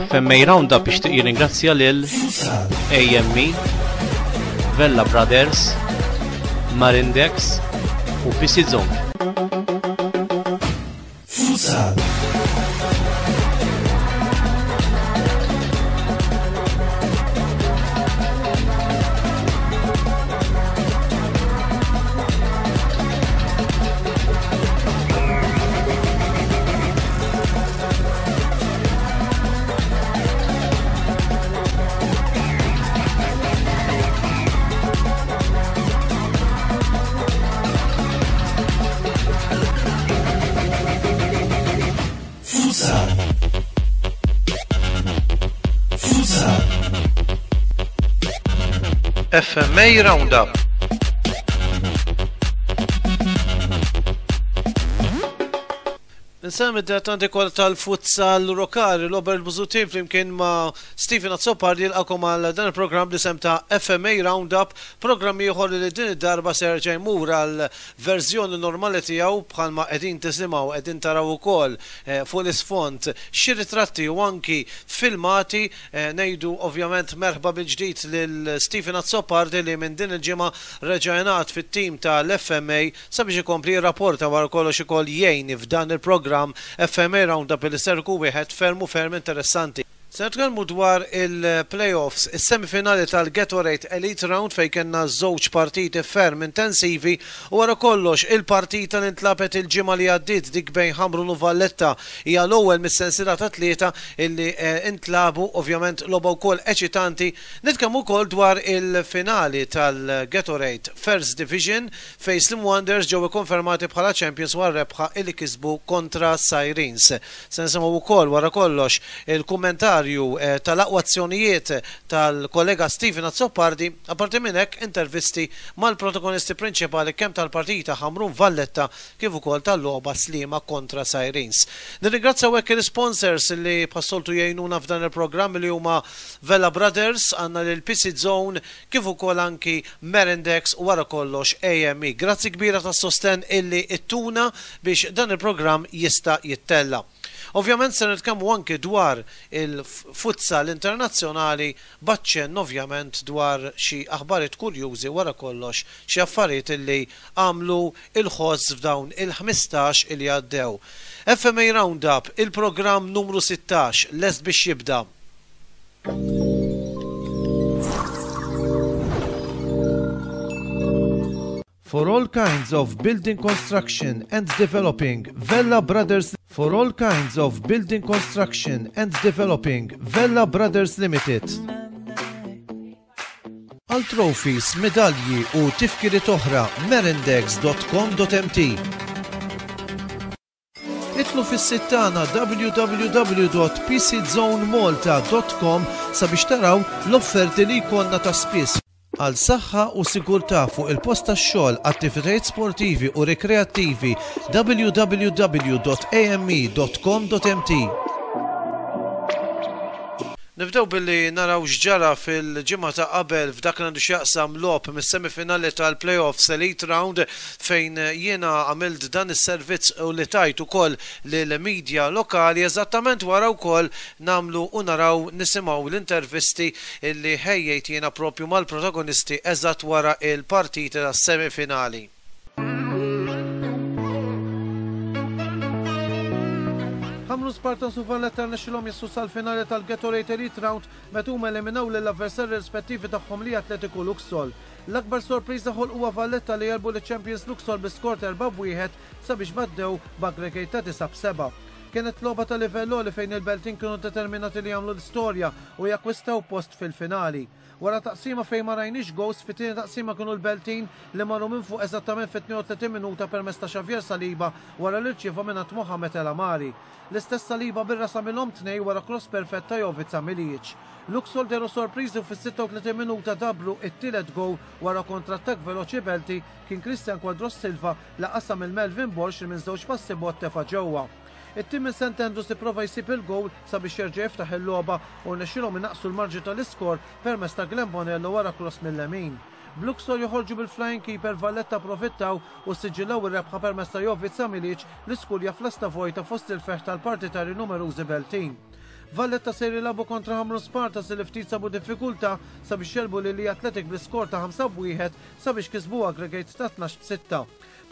FMA Roundup ixtieq jirringrazzja lil AME, Vella Brothers, Marindex u PC Zone. Futsal. Futsal. Futsal. FMA Roundup. Insellem id-dilettanti kollha tal-futsal lokali, Robert Busuttil flimkien ma' Stephen Azzopardi jilqakom għal dan il-programm bl-isem ta' FMA Roundup, programm ieħor li din id-darba se jerġa' jmur għal verżjoni normali tiegħu bħalma qegħdin tisimgħu qegħdin taraw ukoll fuq l-isfond xi ritratti u anki filmati. Ngħidu ovvjament merħba mill-ġdid lil Stephen Azzopardi li minn din il-ġimgħa reġa' ingħaqad fit-tim tal-FMA sabiex ikompli jirrapporta wara kollox ukoll jgħin f'dan il-programm FMA Roundup li ser ikun wieħed ferm u ferm interessanti. Se nitkellmu dwar il-play-offs, is-semifinali tal-Gatorade Elite Round fejn kellna żewġ partiti ferm intensivi u wara kollox il-partita li ntlagħbet il-ġimgħa li għaddiet dik bejn Ħamrun u Valletta hija l-ewwel mis-sensiela ta' tlieta illi ntlagħbu, ovvjament logħba wkoll eċitanti. Nitkellmu wkoll dwar il-finali tal-Gatorade First Division fejn Slim Wonders ġew ikkonfermati bħala champions wara r-rebħa li kisbu kontra Sirens. Se nisimgħu wkoll wara kollox il-kummentarju tal-aqwa azzjonijiet tal-kollega Stephen Azzopardi, apparti minn hekk intervisti mal-protagonisti prinċipali kemm tal-partita Ħamrun Valletta kif ukoll tal-logħba Sliema kontra Sirens. Nirringrazzjaw hekk il-isponsors li bħas-soltu jgħinuna f'dan il-programm li huma Vella Brothers, għandna lil PC Zone, kif ukoll anki Merendex u wara kollox AME. Grazzi kbira tas-sostenn illi ttuna biex dan il-programm jista' jittella'. Ovvjament se nitkellmu anki dwar il-futsal internazzjonali b'aċċenn ovvjament dwar xi aħbarijiet kurjużi wara kollox xi affarijiet illi għamlu l-ħoss f'dawn il-15 illi għaddew. FMA Roundup, il-programm numru 16 lest biex jibda. For all kinds of building construction and developing, Vella Brothers For all kinds of building construction and developing, Vella Brothers Limited. Għal trophies, medalji u tifkiriet oħra, merindex.com.mt. Idħlu fis-sit tagħna www.pczonemalta.com sabiex taraw l-offerti li jkollna ta' spiss. Għal saħħa u sigurtà fuq il-post tax-xogħol, attivitajiet sportivi u rikreattivi www.ame.com.mt. Nibdew billi naraw x'ġara fil-ġimgħa ta' qabel f'dak li għandu x'jaqsam logħob mis-semifinali tal-play-offs Elite Round fejn jiena għamilt dan is-servizz u li tajt ukoll lill-media lokali eżattament wara wkoll nagħmlu u naraw nisimgħu l-intervisti li ħejjejt jiena proprju mal-protagonisti eżatt wara l-partiti tas-semifinali. Ħamrun Spartans u Valletta rnexxilhom jaslu sal-finali tal-Gatorade Elite Round meta huma eliminaw lill-avversarji rispettivi tagħhom li Atletico Luxol. L-akbar sorpriża ħolquha Valletta li għelbu liċ-champions Luxol bi skor ta' 4-1 sabiex battew b'aggregate ta' 9-7. Kienet logħba ta' livell għoli fejn il-Beltin kienu determinati li jagħmlu l-istorja u jakkwistaw post fil-finali. Wara taqsima fejn ma rajniex gowls, fit-tieni taqsima kienu l-Beltin li marru minn fuq eżattament fit-32 minuta permezz ta' Xavier Saliba wara li rċieva mingħand Mohamed El Amari. L-istess Saliba bir-ras għamilhom tnejn wara kross perfett ta' Jovica Milijic. Luxol dehru sorpriżi u fis-36 minuta dabbru it-tielet gowl wara kontrattakk veloċi Belti kien Christian Quadros Silva li qasam lil Melvin Borg li minn żewġ passi bogħod tefa' ġewwa. It-tim minn St Andrews ipprova jsib il-gowl sabiex jerġa' jiftaħ il-logħba u rnexxielhom inaqqsu l-marġni tal-iskor permezz ta' Glenn Bonello wara cross mil-lemin. B'Luxor joħorġu bil-flying keeper Valletta approfittaw u ssiġillaw ir-rebħa permezz ta' Jovica Milic li skurja f'lasta vojta fost il-ferħ tal-partitarji numerużi Beltin. Valletta ser jilagħbu kontra Ħamrun Spartans li ftit sabu diffikultà sabiex jegħlbu lil Lija Athletic bl-iskor ta' 5 b'wieħed sabiex kisbu aggregate ta' 12 b'6.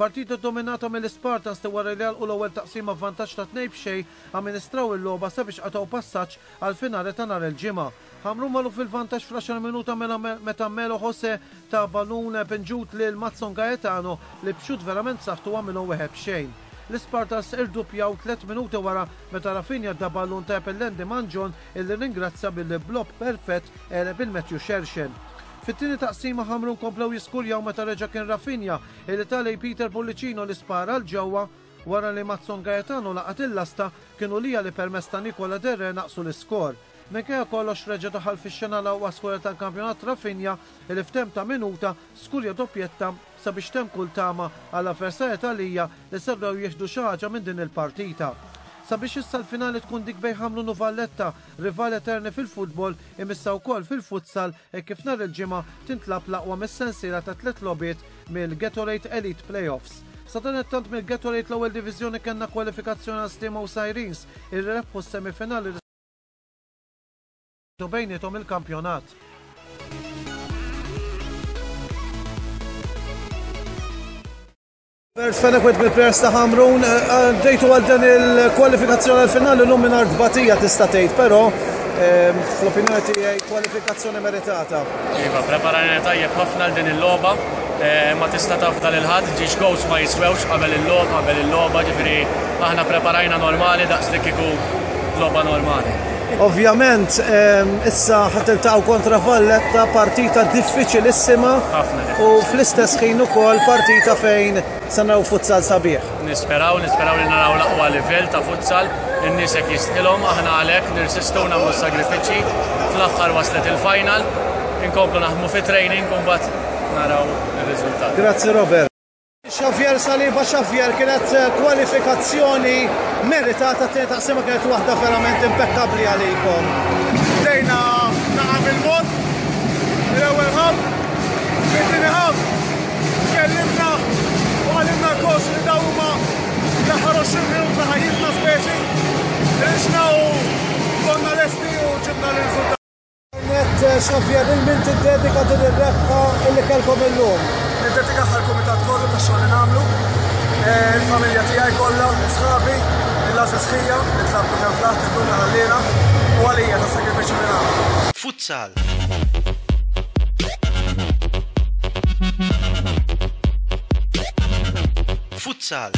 Partita dominata mill-Ispartans li wara li għalqu l-ewwel taqsima b'vantaġġ ta' 2 b'xejn amministraw il-logħba sabiex qatgħu passaġġ għall-finali ta' nhar il-Ġimgħa. Ħamrun marru fil-vantaġġ fl-għaxar minuta mela meta Melo Jose ta ballun pinġut lil Matson Gaetano li b'xutt verament b'saħħtu għamilhom wieħed b'xejn. L-Ispartans irduppjaw tlett minuti wara meta Rafinha ta ballun tajjeb lil Andy Mangion illi rringrazzja billi b'lob perfett għeleb il Matthew Shershel. Fit-tieni taqsima Ħamrun komplew jiskurjaw meta reġa' kien Rafinha illi ta lejn Peter Pullicino li spara 'l ġewwa wara li Matson Gaetano laqat il-lasta kienu Lija li permezz ta' Nicola Derre naqqsu l-iskor. Minkejja kollox reġa' daħal fix-xena l-aqwa skorer tal-kampjonat Rafinha li f'temp ta' minuta skurja doppjetta sabiex temm kull tama għall-avversarji ta' Lija li setgħu jieħdu xi ħaġa minn din il-partita. Sabiex issa l-finali tkun dik bejn Ħamrun u Valletta, rivali eterni fil-futbol, imissa wkoll fil-futsal hekk kif nhar il-Ġimgħa tintlagħab l-aqwa mis-sensiela ta' tlett logħbiet mill-Gatorade Elite Playoffs. Sadanittant mill-Gatorade l-Ewwel Diviżjoni kellna kwalifikazzjoni għal Sliema u Sirens illi rebħu s-semifinali bejniethom il-kampjonat. Bert Fenech wieħed mill-players ta' Ħamrun, għaddejtu għal dan il-kwalifikazzjoni għal-finali llum mingħajr tbatija tista' tgħid, però fl-opinjoni tiegħi kwalifikazzjoni meritata. Iva, preparajna tajjeb ħafna għal din il-logħba. Ma tista' taf dan il-ħadd, ġiex goals ma jiswewx qabel il-logħba, qabel il-logħba, ġifieri aħna preparajna normali daqs li kieku logħba normali. Ovvjament, issa ħa tiltaqgħu kontra Valletta, partita diffiċilissima u fl-istess ħin ukoll partita fejn se naraw futsal sabiħ. Nisperaw, nisperaw li naraw l-aqwa livell ta' futsal, in-nies hekk jistħilhom, aħna għalhekk nirsistu nagħmlu s-sagrifiċċji, fl-aħħar waslet il-final, inkomplu naħdmu fi training u mbagħad naraw ir-riżultat. Grazzi Robert. Xavier Saliba Xavier kienet eh, kwalifikazzjoni meritata t-tieni taqsima kienet waħda verament impeccabli għalikom. Bdejna naqa' bil-mod, l-ewwel ħaf, fit-tieni ħaf, tkellimna u għalimna l-coach li dawn huma l-aħħar 20 minuta ħajjitna speċi. Rixna u konna lesti u ġibna l-riżultat. Net Xavier, lil min tiddedika din ir-rebħa illi kellkom illum? Niddedika għall-kumitat kollu tax-xogħol li nagħmlu, eh, il-familja tiegħi kollha, sħabi, il-għażiż ħija li tlabtu kemm flaħt tkun ħallina u għalija tas-sagrifiċċju li nagħmlu. Futsal. Futsal.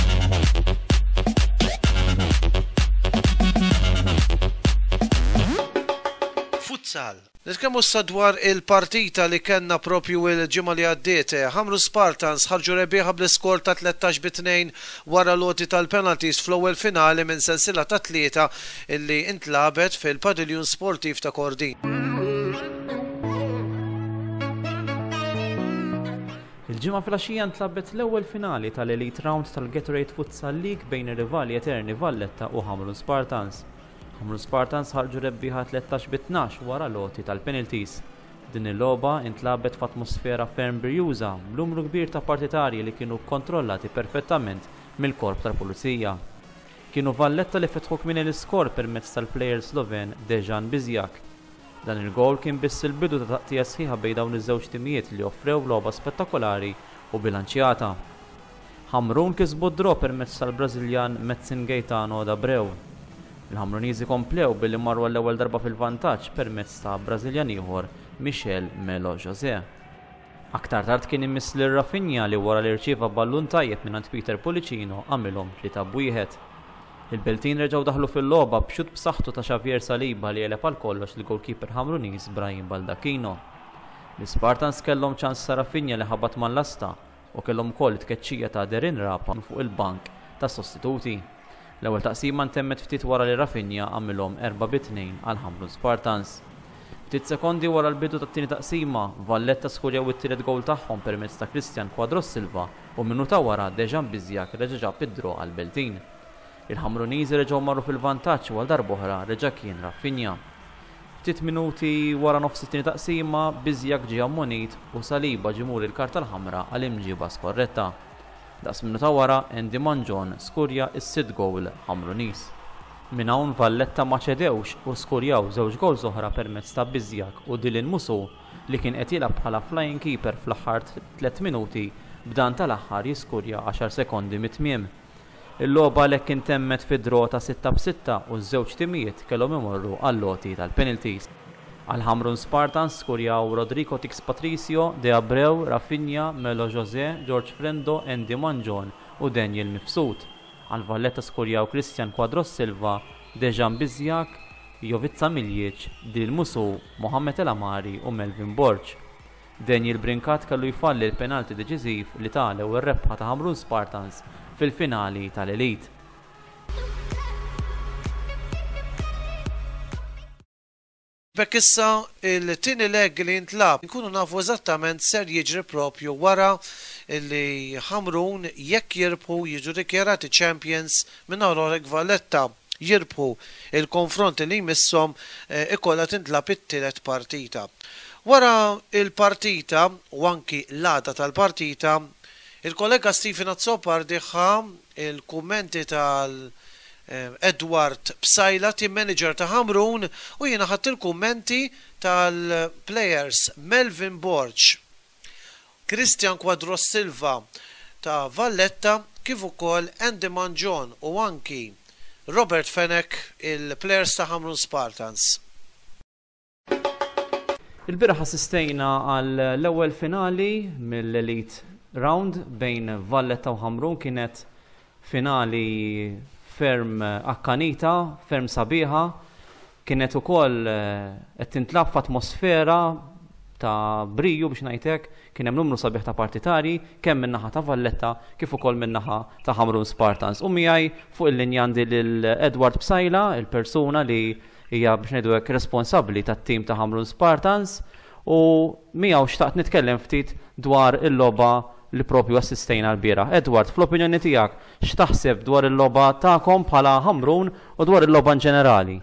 Futsal. Nitkellmu issa dwar il-partita li kellna propju il-ġimgħa li għaddiet. Ħamrun Spartans ħarġu rebbieħa bl-iskor ta' 13 bi 2 wara l-għoti tal-penalties fl-ewwel finali minn sensiela ta' tlieta illi intlagħbet fil-Padiljun Sportiv ta' Kordin. Il-Ġimgħa filgħaxija ntlagħbet l-ewwel finali tal-Elite Round tal-Gatorade Futsal League bejn ir-rivali eterni Valletta u Ħamrun Spartans. Ħamrun Spartans ħarġu rebbieħa 13 bi 12 wara l-għoti tal-penalties. Din il-logħba intlagħbet f'atmosfera ferm birjuża b'numru kbir ta' partitarji li kienu kkontrollati perfettament mill-korp tal-pulizija. Kienu Valletta li fetħu kmieni l-iskor permezz tal-plejer Sloven Dejan Bizjak. Dan il-gowl kien biss il-bidu ta' taqtigħa sħiħa bejn dawn iż-żewġ timijiet li offrew logħba spettakolari u bilanċjata. Ħamrun kisbu d-draw permezz tal-Brażiljan Madson Gaetano D'Abreu. Il-Ħamruniżi komplew billi marru għall-ewwel darba fil-vantaġġ permezz ta' Brażiljan ieħor Michel Melo José. Aktar tard kien imiss lil Rafinha li wara li rċieva ballun tajjeb mingħand Peter Pullicino għamilhom 3 b'wieħed. Il-Beltin reġgħu daħlu fil-logħba b'xutt b'saħħtu ta' Xavier Saliba li għeleb għal kollox il-goalkeeper Ħamruniż Brahim Baldacchino. L-Spartans kellhom ċans ta' Rafinha li ħabat mal-lasta u kellhom ukoll it-tkeċċija ta' Derin Rapa fuq il-bank tas-sostituti. L-ewwel taqsima ntemmet ftit wara li Rafinha għamilhom 4 bi 2 għal Ħamrun Spartans. Ftit sekondi wara l-bidu tat-tieni taqsima, Valletta skurjaw it-tielet gowl tagħhom permezz ta' Christian Quadros Silva u minuta wara Dejan Bizjak reġa' ġab id-draw għal Beltin. Il-Ħamruniżi reġgħu marru fil-vantaġġ u għal darb'oħra reġa' kien Rafinha. Ftit minuti wara nofs it-tieni taqsima, Bizjak ġie ammonit u Saliba ġie muri l-karta l-ħamra għal imġiba skorretta. Daqs minuta wara, Andy Mangion skurja is-sitt gowl Ħamruniż. Minn hawn Valletta ma ċedewx u skurjaw żewġ gowls oħra permezz ta' Bizjak u Dylan Musu li kien qed jilgħab bħala flying keeper fl-aħħar tlett minuti b'dan tal-aħħar jiskurja għaxar sekondi mit-tmiem. Il-logħba għalhekk intemmet fi draw ta' sitta b'sitta u ż-żewġ timijiet kellhom imorru għall-għoti tal-penalties. Għal Ħamrun Spartans skurjaw Rodrigo Tix Patricio, De Abreu, Rafinha, Melo Jose, George Frendo, Andy Mangion u Daniel Mifsud. Għal Valletta skurjaw Christian Quadros Silva, Dejan Bizjak, Jovica Miljic, Dil Musu, Mohamed El Amari u Melvin Borg. Daniel Brincat kellu jfalli l-penalty deċiżiv li ta l-ewwel rebħa ta' Ħamrun Spartans fil-finali tal-Elite. B'hekk issa il-tieni leg li jintlagħab inkunu nafu eżattament x'ser jiġri propju wara li Ħamrun jekk jirbħu jiġu dikjarati champions minn Rorek Valletta jirbħu il-konfront li jmisshom ikollha tintlagħab it-tielet partita. Wara il-partita u anki l-għada tal-partita il-kollega Stephen Azzopardi ħa il-kummenti tal Edward Psaila, team manager ta' Ħamrun, u jiena ħadt il-kummenti tal-players Melvin Borg, Christian Quadros Silva ta' Valletta kif ukoll Andy Mangion u anki Robert Fenech, il-players ta' Ħamrun Spartans. Il-bieraħ assistejna għal l-ewwel finali mill-Elite Round bejn Valletta u Ħamrun kienet finali ferm akkanita, ferm sabiħa, kienet ukoll qed tintlagħab f'atmosfera ta' briju biex ngħid hekk, kien hemm numru sabiħ ta' partitarji kemm min-naħa ta' Valletta kif ukoll min-naħa ta' Ħamrun Spartans. U miegħi fuq il-linja għandi lil Edward Psaila, il-persuna li hija biex ngħidu hekk responsabbli tat-tim ta' Ħamrun Spartans u miegħu xtaqt nitkellem ftit dwar il-logħba li propju assistejna l-bieraħ. Edward, fl-opinjoni tiegħek, x'taħseb dwar il-logħba tagħkom bħala Ħamrun u dwar il-logħba in ġenerali?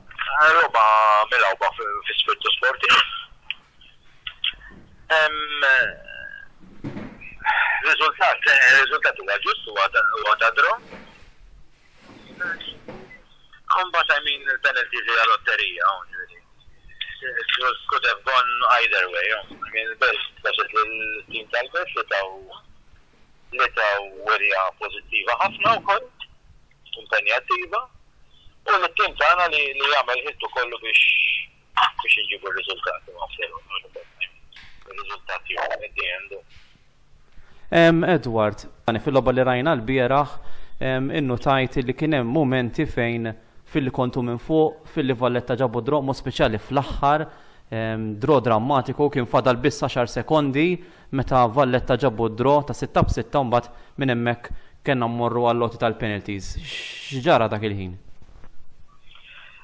Logħba milgħuba fi spirtu sportiv. Riżultat, riżultat huwa ġust, huwa ta' draw. Imbagħad I mean il-penalties hija lotterija, ġifieri. It could have gone either way. I mean il-Belt prosit lill-tim tal-Belt li taw li taw wirja pożittiva ħafna wkoll, impenjattiva, u lit-tim tagħna li li jagħmel ħiltu kollu biex biex inġibu r-riżultati ma' Ir-riżultati at the end. Edward, fil-logħba li rajna l-bieraħ innutajt li kien hemm mumenti fejn filli kontu minn fuq, filli Valletta ġabu draw, mod speċjali fl-aħħar, draw drammatiku kien fadal biss 10 sekondi meta Valletta ġabu draw ta' 6 b'6 mbagħad minn hemmhekk kellna mmorru għall-għoti tal-penalties. X'ġara dak il-ħin?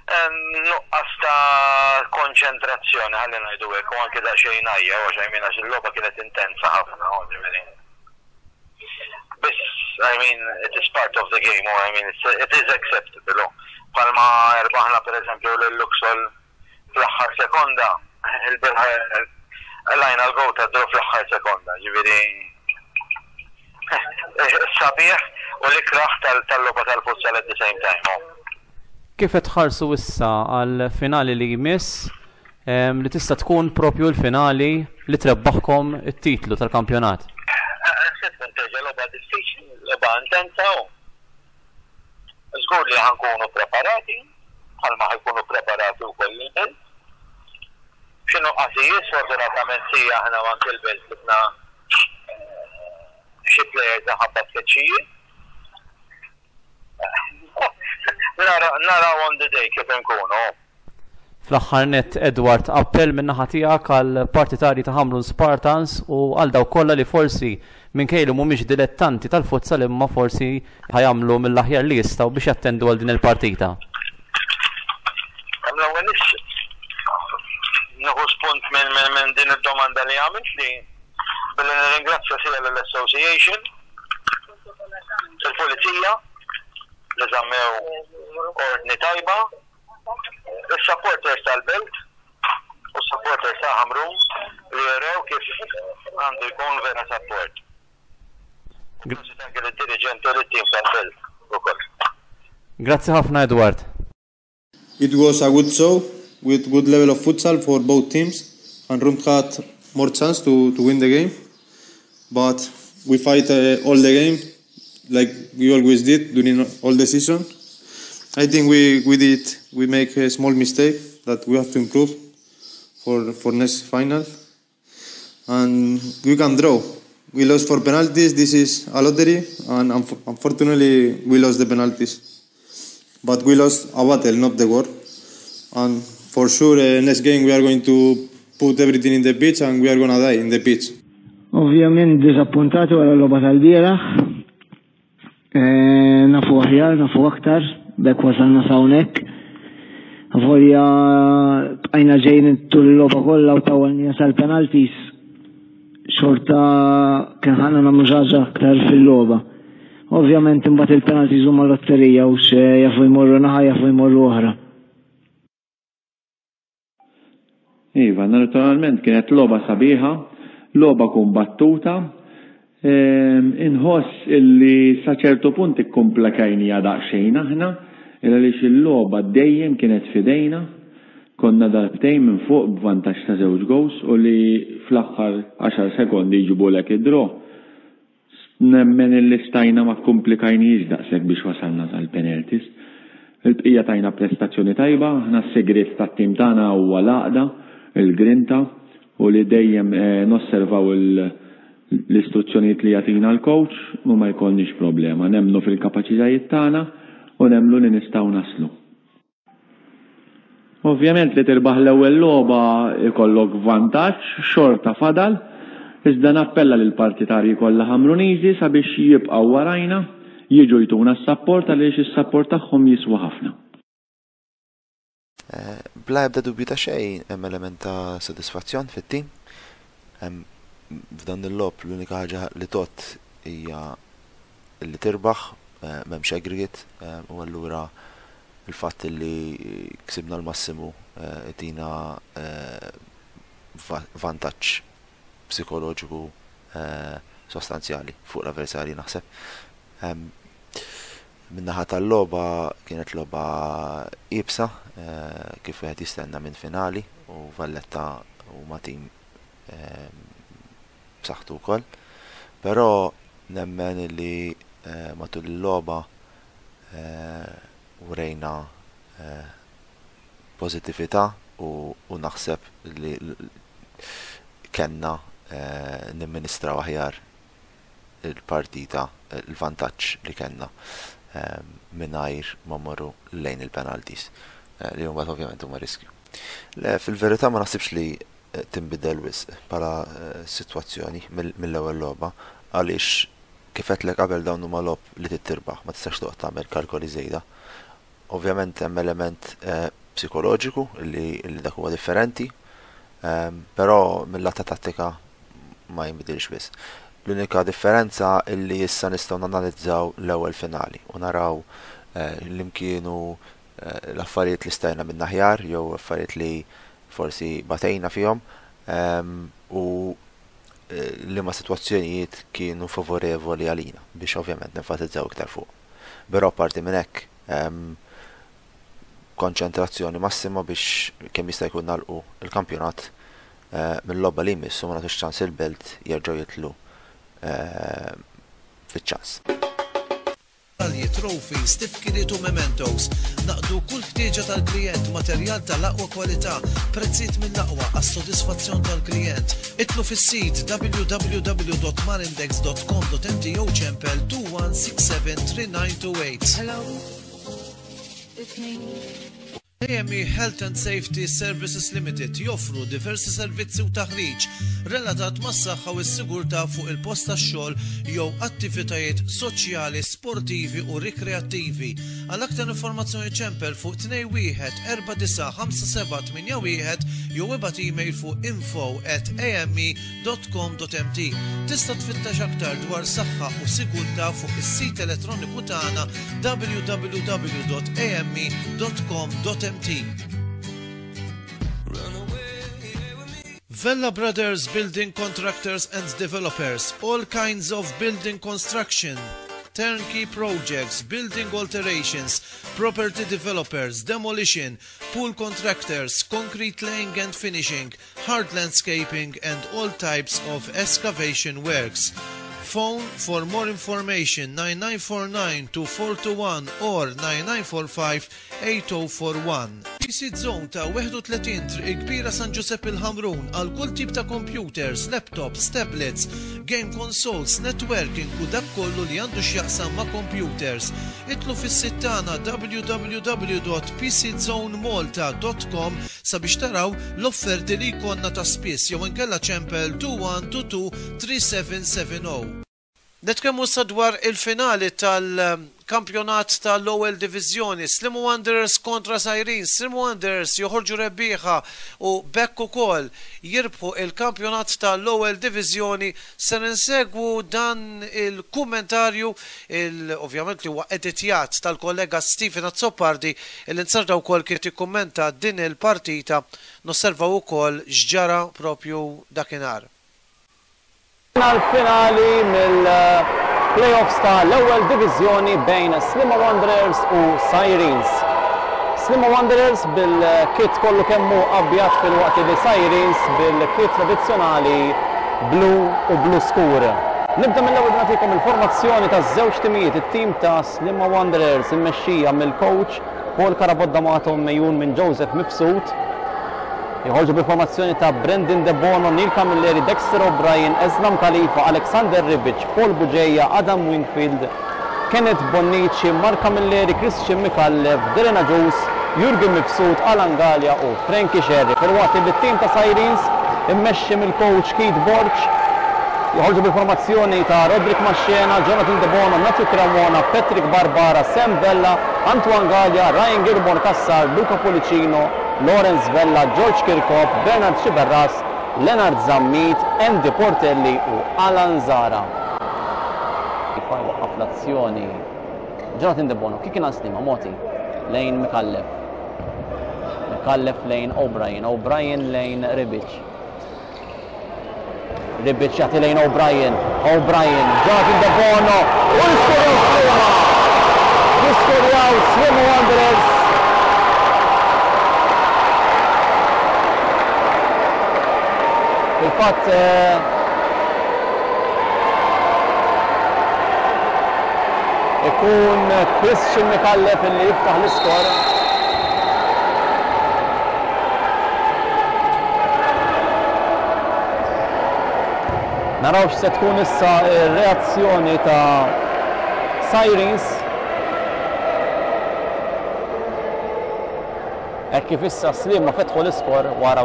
Nuqqas ta' konċentrazzjoni, ħalli ngħidu hekk, u anke daqsxejn għajja, għax I mean għax il-logħba kienet intensa ħafna, ġifieri. Biss, I mean, it is part of the game, I mean, it is acceptable. Bħalma rbaħna per eżempju lil Luxol fl-aħħar sekonda, il-bieraħ qlajna l-goal ta' draw fl-aħħar sekonda, ġifieri sabiħ u l-ikrah tal-logħba tal-futsal at the same time. Kif qed tħarsu issa għal finali li jmiss li tista' tkun propju l-finali li trebbaħkom it-titlu tal-kampjonat? Se tkun terġa' logħba diffiċli, logħba intensa u żgur li ħa nkunu preparati bħalma ħa jkunu preparati wkoll il-Belt. Xi nuqqasijiet sfortunatament si aħna u anke l-Belt sibna xi players minħabba tkeċċijiet. Naraw on the day kif inkunu. Fl-aħħar nett, Edward, appell min-naħa tiegħek għal partitarji ta' Ħamrun Spartans u għal dawk kollha li forsi minkejja li mhumiex dilettanti tal-futsal imma forsi ħa jagħmlu mill-aħjar li jistgħu biex jattendu għal din il-partita. L-ewwel nieħu spunt minn din id-domanda li għamilt li billi nirringrazzja sia lill-Association il-Pulizija li żammew ordni tajba, is-supporters tal-Belt u s-supporters ta' Ħamrun li jurew kif għandu jkun vera support. Prosit anke lid-diriġenti u lit-tim tal-Belt ukoll. Grazzi ħafna Edward. It was a good show with good level of futsal for both teams. Hamrun had more chance to, to win the game, but we fight uh, all the game like we always did during all the season. I think we, we did we make a small mistake that we have to improve for for next final, and we can draw. We lost for penalties. This is a lottery, and unfortunately we lost the penalties. But we lost a battle, not the war. And for sure, uh, next game we are going to put everything in the pitch and we are gonna die in the pitch. Ovvjament diżappuntati wara l-logħba tal-bieraħ. Eh, nafu aħjar, nafu aktar, bekk wasalna s'hawnhekk. Volja bqajna ġejjin tul il-logħba kollha u tawalnija sal-penalties. Xorta kien ħana nagħmlu ħaġa aktar fil-logħba. Ovvjament imbagħad il-penalties huma lotterija u xe jafu jmorru naħa jafu jmorru oħra. Iva, naturalment kienet logħba sabiħa, logħba kumbattuta. Ehm, inħoss illi sa ċertu punt ikkumplekajnija daqsxejn aħna, għaliex il-logħba dejjem kienet fidejna. Konna darbtejn minn fuq b'vantaġġ ta' żewġ goals u li fl-aħħar 10 sekondi jġibulek id-draw. Nemmen illi stajna ma kkumplikajnihiex daqshekk biex wasalna sal-penalties. Il-bqija tajna prestazzjoni tajba, aħna s-sigriet tat-tim tagħna huwa l-għaqda, il-grinta u li dejjem nosservaw l-istruzzjonijiet li jagħtina l-coach u ma jkollniex problema. Nemmnu fil-kapaċitajiet tagħna u nemmnu li nistgħu naslu. Ovvjament li tirbaħ l-ewwel logħba jkollok vantaġġ, xorta fadal, iżda nappella lill-partitarji kollha Ħamruniżi sabiex jibqgħu warajna, jiġu jtuna s-sapport għaliex is-sapport tagħhom jiswa ħafna. Bla ebda dubju ta' xejn hemm element ta' sodisfazzjon fit-tim. F'dan il-logħob l-unika ħaġa li tgħodd hija li tirbaħ, m'hemmx aggregate u allura Il-fatt li ksibna l-massimu jtina vantaġġ psikoloġiku sostanzjali fuq l-avversarji naħseb. Min-naħa tal-logħba kienet logħba iebsa kif wieħed jistenna minn finali u Valletta huma tim b'saħħtu wkoll. Però nemmen li matul il-logħba wrejna pożittività u naħseb li kellna nimministraw aħjar il-partita, il-vantaġġ li kellna mingħajr ma mmorru lejn il-penalties li mbagħad ovvjament huma riskju. Le, fil-verità ma naħsibx li tinbidel wisq bħala sitwazzjoni mill-ewwel logħba għaliex Kif għedtlek qabel dawn huma logħob li trid tirbaħ, ma tistax toqgħod tagħmel kalkoli żejda. Ovvjament hemm element psikoloġiku li dak huwa differenti, però mill-lat ta' tattika ma jinbidilx wisq. L-unika differenza li issa nistgħu nanalizzaw l-ewwel finali u naraw li kienu l-affarijiet li stajna minn aħjar jew affarijiet li forsi batejna fihom u liema sitwazzjonijiet kienu favorevoli għalina biex ovvjament nenfasizzaw iktar fuq. Però apparti minn hekk konċentrazzjoni massima biex kemm jista' jkun nagħlqu l-kampjonat mill-logħba li jmiss u ma nagħtux ċans il-Belt jerġgħu jidħlu fiċ-ċans. Medalji, trophies, tifkiriet u mementos. Naqdu kull ħtieġa tal-klijent, materjal tal-aqwa kwalità, prezzijiet mill-aqwa għas-sodisfazzjon tal-klijent. Idħlu fis-sit www.marindex.com.mt jew ċempel 21673928. Hello, it's me. AME Health and Safety Services Limited joffru diversi servizzi u taħriġ relatat mas-saħħa u s-sigurtà fuq il-post tax-xogħol jew attivitajiet soċjali, sportivi u rikreattivi. Għal aktar informazzjoni ċempel fuq 21 49 5781 jew ibgħat email fuq info at ame.com.mt. Tista' tfittex aktar dwar saħħa u sigurtà fuq is-sit elettroniku tagħna www.ame.com.mt. Vella Brothers Building Contractors and Developers, all kinds of building construction. turnkey projects, building alterations, property developers, demolition, pool contractors, concrete laying and finishing, hard landscaping and all types of excavation works. Phone for more information 9949 2421 or 9945 8041. PC Zone ta' 31 Triq il-Kbira San Ġużepp il-Ħamrun għal kull tip ta' computers, laptops, tablets, game consoles, networking u dak kollu li għandu x'jaqsam ma' computers. Idħlu fis-sit tagħna www.pczonemalta.com sabiex taraw l-offerti li jkollna ta' spiss jew inkella ċempel 2122 3770. Nitkellmu issa dwar il-finali tal-kampjonat tal-Ewwel Diviżjoni, Sliema Wanderers kontra Sirens. Sliema Wanderers joħorġu rebbieħa u b'hekk ukoll jirbħu il-kampjonat tal-Ewwel Diviżjoni. Ser insegwu dan il-kummentarju, ovvjament li huwa editjat tal-kollega Stephen Azzopardi, li nzarda wkoll kien jikkummenta din il-partita. Nosservaw ukoll x'ġara propju dakinhar. Għall-finali mill-play-offs ta' l-Ewwel Diviżjoni bejn Sliema Wanderers u Sirens. Sliema Wanderers bil-kit kollu kemm hu abjad filwaqt li Sirens bil-kit tradizzjonali blu u blu skur. Nibda mill-ewwel nagħtikom il-formazzjoni taż-żewġ timijiet, it-tim ta' Sliema Wanderers immexxija mill-coach Paul Carabott D'Amato mgħejjun minn Joseph Mifsud. Joħorġu bil-formazzjoni ta' Brandon Debono, Neil Camilleri, Dexter O'Brien, Eslam Khalifa, Alexander Ribic, Paul Bugeja, Adam Wingfield, Kenneth Bonnici, Mark Camilleri, Christian Micallef, Dylan Agius, Jurgen Mifsud, Alan Galea u Frankie Scerri. Filwaqt li t-tim ta' Sirens immexxi mill-coach Keith Borg joħorġu bil-formazzjoni ta' Roderick Mascena, Jonathan Debono, Matthew Cremona, Patrick Barbara, Sam Vella, Antoine Galea, Ryan Gilmore Cassar, Luca Pullicino, Lawrence Vella, George Kirkop, Bernard Sciberras, Leonard Zammit, Andy Portelli u Alan Zara. Jwaqqaf l-azzjoni Jonathan Debono, kif kien għal Sliema, Moti lejn Micallef. Micallef lejn O'Brien, O'Brien lejn Ribic. Ribic jagħti lejn O'Brien, O'Brien, Jonathan Debono, u jiskorjaw Sliema! Jiskorjaw Sliema Wanderers! Fil-fatt ikun Christian Micallef illi jiftaħ l-iskor. Naraw x'se tkun issa r-reazzjoni ta' Sirens. Hekk kif issa Sliema fetħu l-iskor wara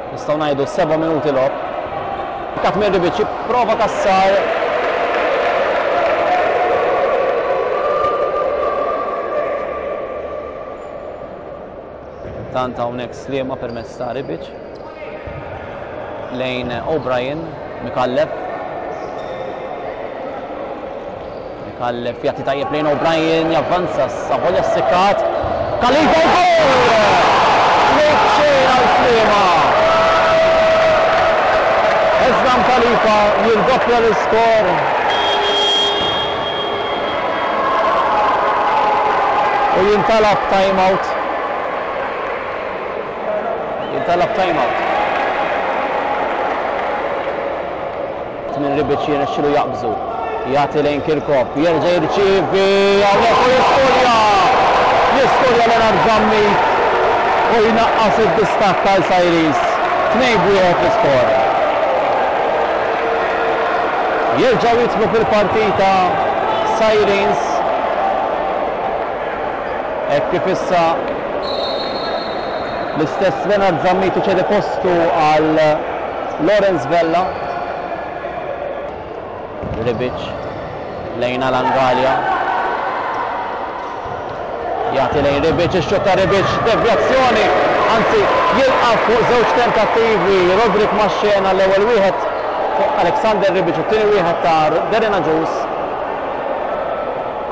nistgħu ngħidu 7 minuti logħob. Kat minn Ribic jipprova Cassar. Tant hawnhekk Sliema permezz ta' Ribic lejn O'Brien, Micallef. Micallef jagħti tajjeb lejn O'Brien, javvanza Savolja Sikat. Khalifa u gol! Tnejn xejn għal Sliema. Eslam Khalifa jirdoppja l-iskor. U jintalab time-out. Jintalab time-out. Minn Ribic jirnexxilu jaqbżu. Jagħti lejn Kirkop, jerġa' jirċievi hawnhekk u jiskorja! Jiskorja Leonard Zammit u jnaqqas id-distakk għal Sairis. 2-1 l-iskor. Jerġgħu jidħlu fil-partita Sirens. Hekk kif issa l-istess Leonard Zammit iċedi postu għal Lawrence Vella. Ribic lejn Alan Galea. Jagħti lejn Ribic, ix-xutt ta' Ribic, devjazzjoni, anzi jilqa' fuq żewġ tentattivi Roderick Maxxena l-ewwel wieħed fuq Alexander Ribic u t-tieni wieħed ta' Darren Agius.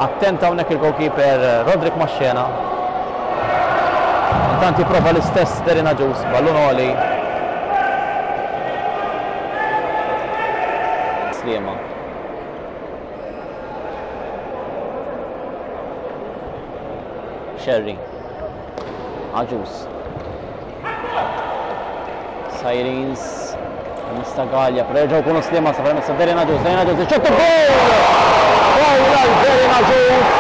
Attent hawnhekk il-goalkeeper Roderick Maxxena. Intant jipprova l-istess Darren Agius, ballun għoli. Sliema. Sherry. Agius. Sirens. Mista Gallia, però jerġgħu jkunu Sliema sa permezz ta' Darren Agius, Darren Agius, ix-xott u goal! Goal għal Darren Agius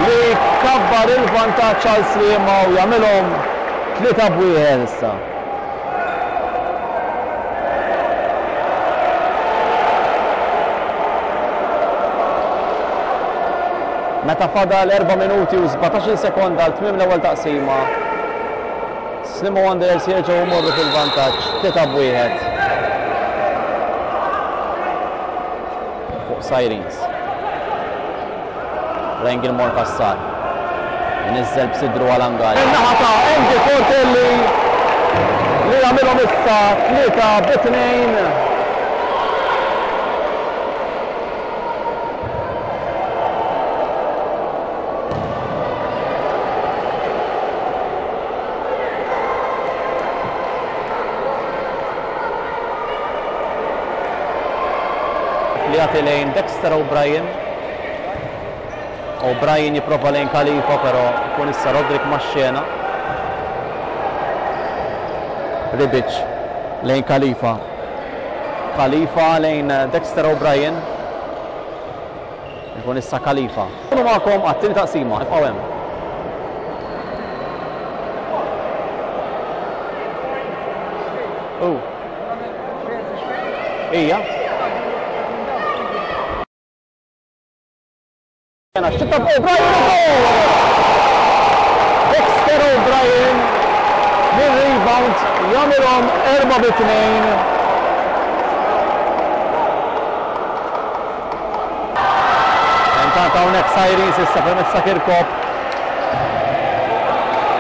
li kabbar il-vantaġġ għal Sliema u jagħmilhom 3-1 issa. Meta fadal 4 minuti u 17 sekonda għal tmiem l-ewwel taqsima, Sliema Wanderers jerġgħu jmorru fil-vantaġġ 3-1 fuq Sirens. Ryan Gilmore Cassar. Inizzel b'sidru għal Angali. In-naħa ta' Andy Portelli li jagħmilhom issa 3-2. Li jagħti lejn Dexter O'Brien. O'Brien jipprova lejn Khalifa però jkun issa Roderick max-xena. Ribic lejn Khalifa. Khalifa lejn Dexter O'Brien. Ikun issa Khalifa. Nkunu magħkom għat-tieni taqsima, ibqgħu hemm. U. Ija. Xita O'Brien u goal! Dexter O'Brien mir-rebound jagħmilhom 4-2. Intant hawnhekk Sirens issa permezz ta' Kirkop.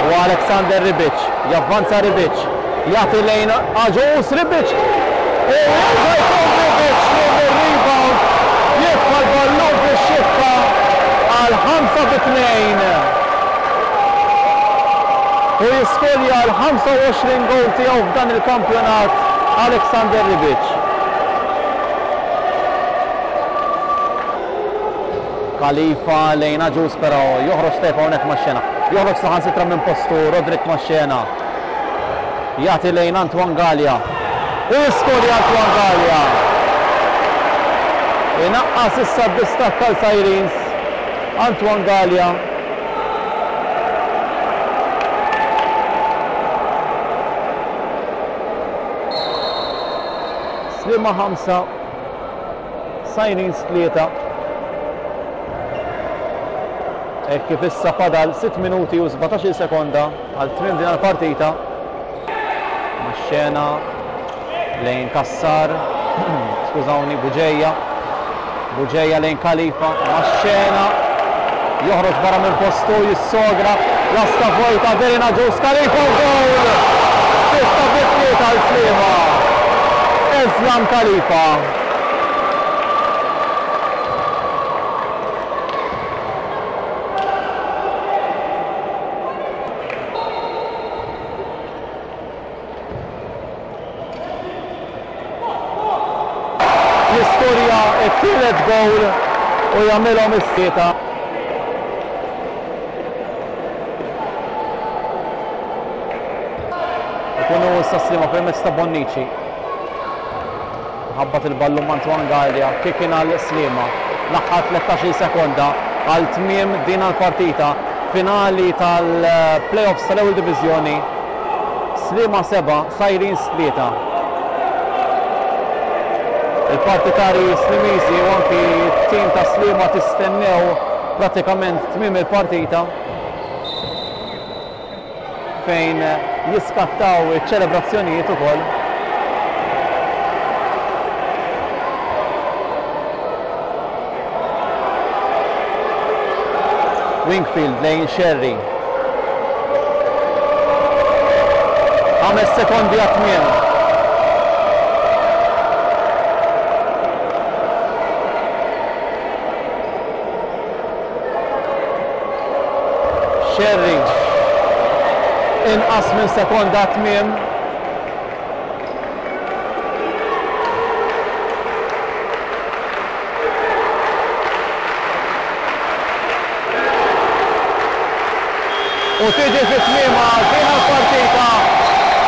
U Alexander Ribic, javvanza Ribic, jagħti lejn Aġus Ribic. U jerġa' jkun Ribic li mir-rebound jitfa' l-ballun fix-xibka għal 5-2. U jiskorja l-25 goal tiegħu f'dan il-kampjonat Alexander Ribic. Khalifa lejn Agius però joħroġ tajjeb hawnhekk max-xena. Joħroġ saħansitra minn postu Roderick Maxxena. Jagħti lejn Antoine Gallia. U jiskorja Antoine Gallia. Inaqqas issa d-distakk għal Sirens. Antoine Gallia. Sliema 5, Sirens 3. Hekk kif issa fadal 6 minuti u 17 sekonda għal tmiem din il-partita. Max-xena lejn Cassar, skużawni, Buġeja. Buġeja lejn Khalifa, max-xena joħroġ barra minn postu, jissogra, lasta vojta, Derina Ġus, Khalifa u goal! 6-3 għal Sliema. Islam Khalifa. Jiskorja t-tielet goal u jagħmilhom is-sieta. Ikunu issa Sliema permezz ta' Bonnici. Ħabbat il-ballun ma' Antoine Gallia, kick-in għal Sliema. L-aħħar 13-il sekonda għal tmiem din l-partita finali tal-playoffs tal-Ewwel Diviżjoni. Sliema 7, Sirens 3. Il-partitarji Slimiżi u anki t-tim ta' Sliema tistennew pratikament tmiem il-partita fejn jiskattaw iċ-ċelebrazzjonijiet ukoll. Wingfield lejn Sherry. 5 sekondi għat-tmiem. Sherry. Inqas minn sekonda għat-tmiem. U tiġi fi tmiemha din il-partita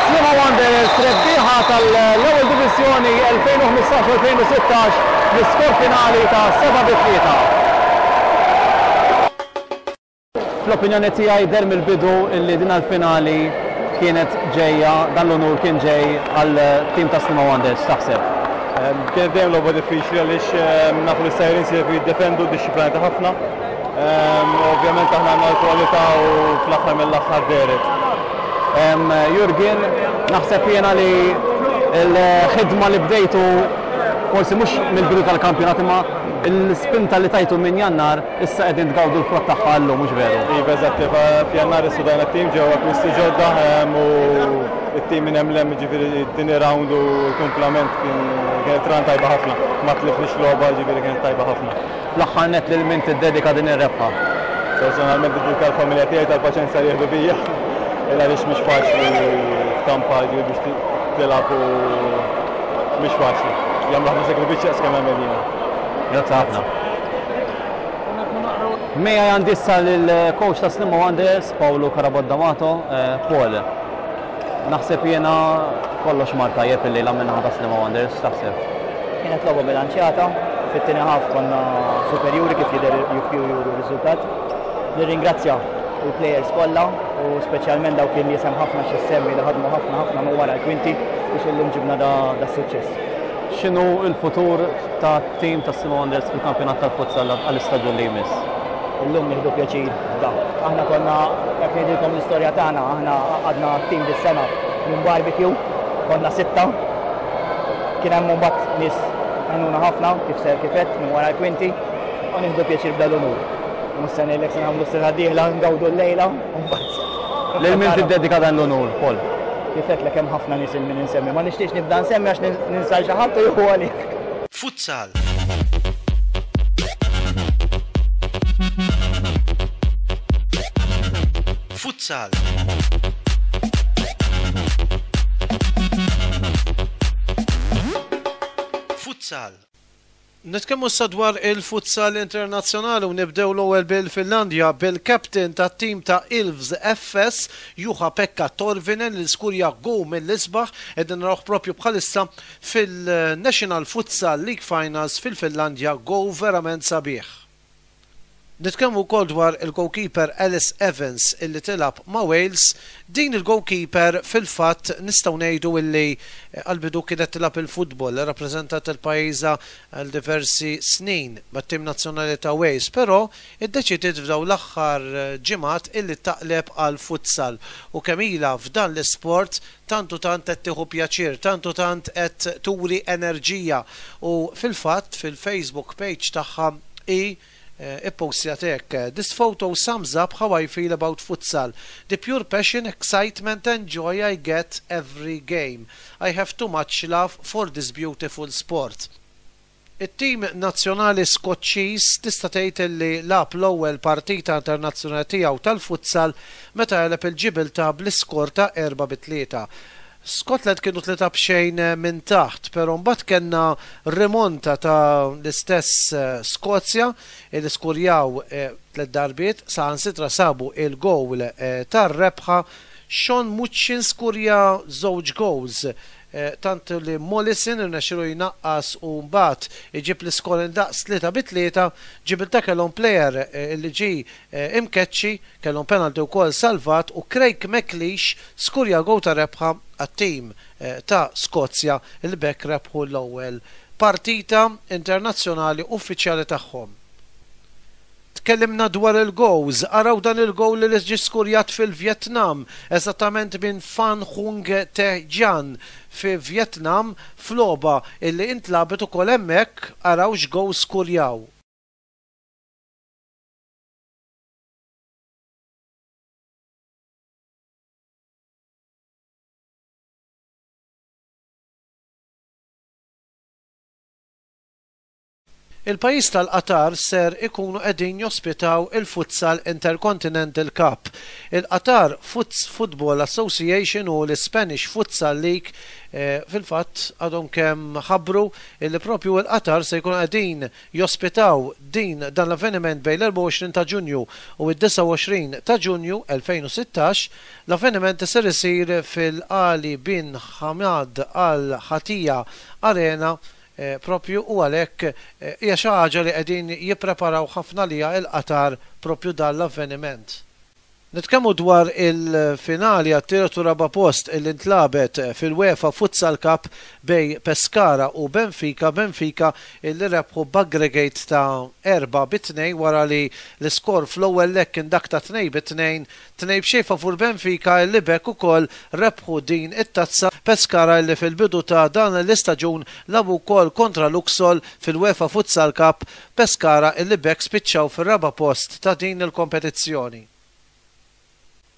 Sliema Wanderers rebbieħa tal-Ewwel Diviżjoni 2015-2016 bl-iskor finali ta' 7 bi 3. Fl-opinjoni tiegħi deher mill-bidu illi din l-finali kienet ġejja, dan l-unur kien ġej għal tim ta' Sliema Wanderers, x'taħseb? Kienet dejjem logħba diffiċli għaliex nafu li s-Sirens jafu jiddefendu dixxiplinati ħafna. Ovvjament aħna għandna l-kwalità u fl-aħħar mill-aħħar dehret. Jurgen, naħseb jiena li l-ħidma li bdejtu forsi mhux mill-bidu tal-kampjonat imma l-spinta li tajtu minn Jannar Issa qegħdin tgawdu l-frott tagħha llum, mhux veru? Iva, eżatt, iva, f'Jannar issudajna t-tim, ġew akkwisti ġodda u t-tim minn hemm 'l hemm, jiġifieri t-tieni round u l-kumplament kien kienet run tajba ħafna. Ma tlifniex logħba, jiġifieri kienet tajba ħafna. Fl-aħħar nett lil min tiddedika din ir-rebħa? Personalment niddedika l-familja tiegħi tal-paċenzja li jieħdu bija, il għaliex mhix faċli f'kampa jiġifieri biex tilgħab u mhix faċli. Jagħmlu ħafna sagrifiċċji daqs kemm nagħmel jiena. Grazzi ħafna. Miegħi għandi issa lill-coach ta' Sliema Wanderers, Paolo Carabott D'Amato. Eh, Paul, naħseb jiena kollox mar tajjeb illejla min-naħa ta' Sliema Wanderers, x'taħseb? Kienet logħba bilanċjata, fit-tieni ħaf konna superjuri kif jidher juru r-riżultat. Nirringrazzja il-players kollha u speċjalment dawk in-nies hemm ħafna xi semmi li ħadmu ħafna ħafna minn wara l-kwinti biex illum ġibna da suċċess. X'inhu l-futur tat-tim ta' Sliema Wanderers fil-kampjonat tal-futsal għall-istaġun li jmiss? Illum nieħdu pjaċir b'dan. Aħna konna, jekk ngħidilkom l-istorja tagħna, aħna għaqadna tim dis-sena minn barbecue, konna sitta. Kien hemm imbagħad nies għenuna ħafna kif ser kif għedt minn wara l-kwinti u nieħdu pjaċir b'dan l-unur. Mhux se ngħidlek se nagħmlu s-sena d-dieħla ngawdu llejla u mbagħad. Lil min tiddedika dan l-unur, Paul? Kif għedtlek hemm ħafna nies il min insemmi. Ma nixtieqx nibda nsemmi għax ninsa 'l xi ħadd u jieħu għalih. Futsal. Futsal. Futsal. Nitkellmu issa dwar il-futsal internazzjonali u nibdew l-ewwel bil-Finlandja bil-captain tat-tim ta' Ilves FS Juha Pekka Torvinen li skurja goal mill-isbaħ qegħdin narawh propju bħalissa fil-National Futsal League Finals fil-Finlandja goal verament sabiħ. Nitkellmu wkoll dwar il-goalkeeper Alice Evans illi tilgħab ma' Wales. Din il-goalkeeper fil-fatt nistgħu ngħidu illi għall-bidu kienet tilgħab il-futbol, irrappreżentat lil pajjiżha għal diversi snin mat-tim nazzjonali ta' Wales, però iddeċidiet f'dawn l-aħħar ġimgħat illi taqleb għall-futsal u kemm ilha f'dan l-isport tant u tant qed tieħu pjaċir, tant u tant qed turi enerġija u fil-fatt fil-Facebook page tagħha hi ippostjat hekk, This photo sums up how I feel about futsal. The pure passion, excitement and joy I get every game. I have too much love for this beautiful sport. It-tim nazzjonali Skoċċiż tista' tgħid li lagħab l-ewwel partita internazzjonali tiegħu tal-futsal meta għeleb il-Ġibiltà bl-iskor ta' 4 bi 3. Scotland kienu 3 b'xejn minn taħt, però mbagħad kellna rimonta ta' l-istess Skozja li skurjaw tliet darbiet, saħansitra sabu il-gowl tar-rebħa. Sean Muccin skurja żewġ gowls, tant li Mollison irnexxielu jnaqqas u mbagħad iġib l-iskor indaqs 3 bi 3. Ġibiltà kellhom plejer li ġie imkeċċi. Kellhom penalty wkoll salvat u Craig McLeish skurja gowl ta' rebħa għat-tim ta' Skozja li b'hekk rebħu l-ewwel partita internazzjonali uffiċjali tagħhom. Tkellimna dwar il-gowls, araw dan il-gowl li ġie skurjat fil-Vjetnam, eżattament minn Phan Hung Te Gian fi Vjetnam f'logħba illi intlagħbet ukoll hemmhekk, araw x'gowl skurjaw. Il-pajjiż tal-Qatar ser ikunu qegħdin jospitaw il-Futsal Intercontinental Cup. Il-Qatar Football Association u l-Spanish Futsal League fil-fatt għadhom kemm ħabbru li propju il-Qatar se jkunu qegħdin jospitaw din dan l-avveniment bejn l-24 ta' Ġunju u d-29 ta' Ġunju 2016. L-avveniment ser isir fil-Ali bin Hamad Al Hatia Arena propju u għalhekk hija xi ħaġa li qegħdin jippreparaw ħafna għaliha il-Qatar propju dan l-avveniment. Nitkellmu dwar il-finali għat-tielet u raba' post li ntlagħbet fil-UEFA Futsal Cup bejn Pescara u Benfica, Benfica li rebħu b'aggregate ta' 4 bi 2 wara li l-iskor fl-ewwel leg kien dak ta' 2 bi 2, 2-0 favur Benfica li b'hekk ukoll rebħu din it-tazza. Pescara li fil-bidu ta' dan l-istaġun lagħbu wkoll kontra Luxol fil-UEFA Futsal Cup, Pescara illi b'hekk spiċċaw fir-raba' post ta' din il-kompetizzjoni.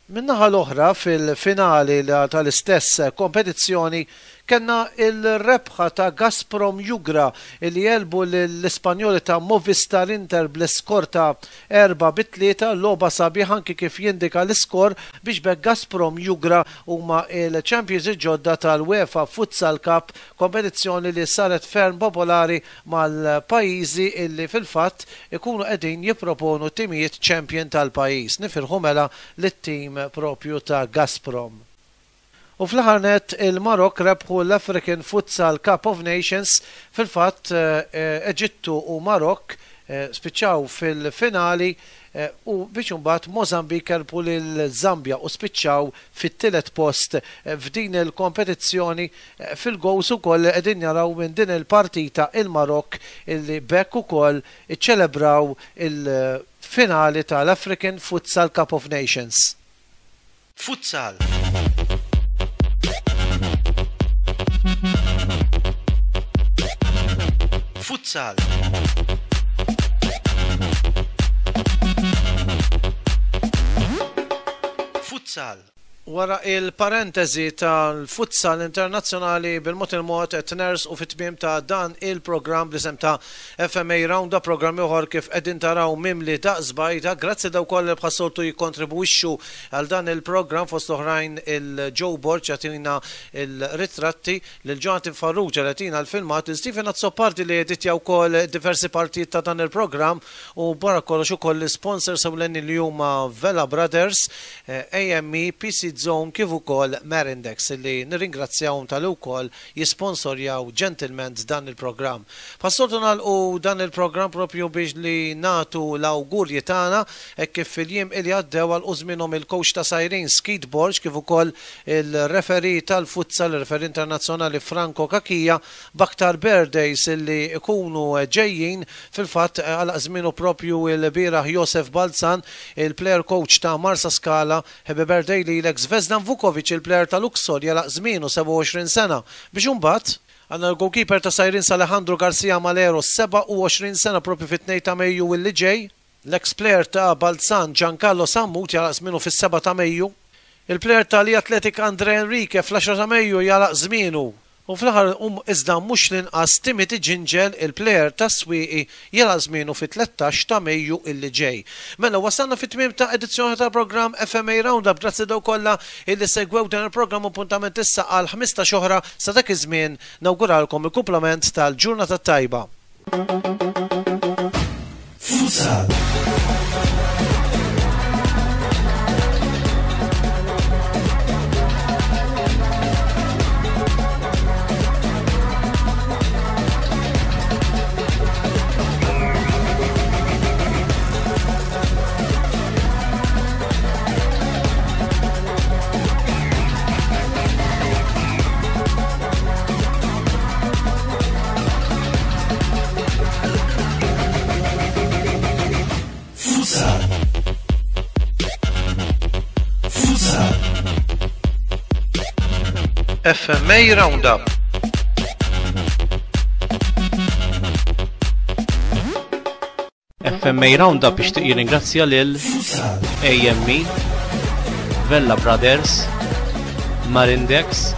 Min-naħa l-oħra fil-finali tal-istess kompetizzjoni kellna il-rebħa ta' Gazprom Jugra illi għelbu l-Ispanjoli ta' Movistar Inter bl-iskor ta' 4-3, logħba sabiħ anki kif jindika l-iskor biex b'hekk Gazprom Jugra huma il-champions il-ġodda tal-UEFA Futsal Cup, kompetizzjoni li saret ferm popolari mal-pajjiżi illi fil-fatt ikunu qegħdin jipproponu timijiet champion tal-pajjiż. Nifirħu mela lit-tim propju ta' Gazprom. U fl-aħħar net il-Marok rebħu l-African Futsal Cup of Nations. Fil-fatt Eġittu u Marok spiċċaw fil-finali u biex imbagħad Mozambique rebħu lil Zambia u spiċċaw fit-tielet post f'din il-kompetizzjoni. Fil-goals ukoll qegħdin naraw minn din il-partita il-Marok illi b'hekk ukoll iċċelebraw il-finali tal-African Futsal Cup of Nations. Futsal. Futsal. Futsal. Wara il-parentesi tal-futsal internazzjonali, bil-mod il-mod qed nersqu fit-tmiem ta' dan il-programm bl-isem ta' FMA Roundup, programm ieħor kif qegħdin taraw mimli daqs bajda. Grazzi dawk kollha li bħas-soltu jikkontribwixxu għal dan il-programm, fost oħrajn il-Joe Borg jagħtina il-ritratti, lil Jonathan Farrugia li jagħtina l-filmat, lil Stephen Azzopardi li editja wkoll diversi partijiet ta' dan il-programm u barra kollox ukoll l-sponsors ewlenin li huma Vela Brothers, AME, PC Zone kif ukoll Marindex li nirringrazzjahom talli wkoll jisponsorjaw ġentilment dan il-programm. Bħas-soltu nagħlqu dan il-programm propju biex li nagħtu l-awgurji tagħna hekk kif fil-jiem li għaddew għalqu żmienhom il-coach ta' Sirens Keith Borg kif ukoll il-referee tal-futsal, il-referee internazzjonali Franco Cachia, b'aktar birthdays li ikunu ġejjin. Fil-fatt għalaq żmienu propju il-bieraħ Josef Balzan, il-player coach ta' Marsa Scala. Happy birthday lilek. Zvezdan Vukovic, il-player ta' Luxol, jagħlaq żmienu 27 sena. Biex imbagħad għandna l-goalkeeper ta' Sirens Alejandro Garcia Malero, 27 sena propju fit-2 ta' Mejju illi ġej. L-ex player ta' Balzan Giancarlo Sammut jagħlaq żmienu fis-7 ta' Mejju. Il-player ta' Lija Athletic Andre Enrique fl-10 ta' Mejju jagħlaq żmienu. U fl-aħħar iżda mhux l-inqas Timothy Gingell, il-plejer tas-Swieqi, jagħlaq żmienu fit-13 ta' Mejju illi ġej. Mela wasalna fit-tmiem ta' edizzjoni tal-programm FMA Roundup. Grazzi dawk kollha illi segwew dan il-programm. Appuntament issa għal 15 oħra. Sa dak iż-żmien nawguralkom il-kumplament tal-ġurnata tajba. Futsal. Futsal. Futsal. FMA Roundup. FMA Roundup ixtieq jirringrazzja lil AME, Vella Brothers, Marindex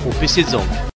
u PC Zone.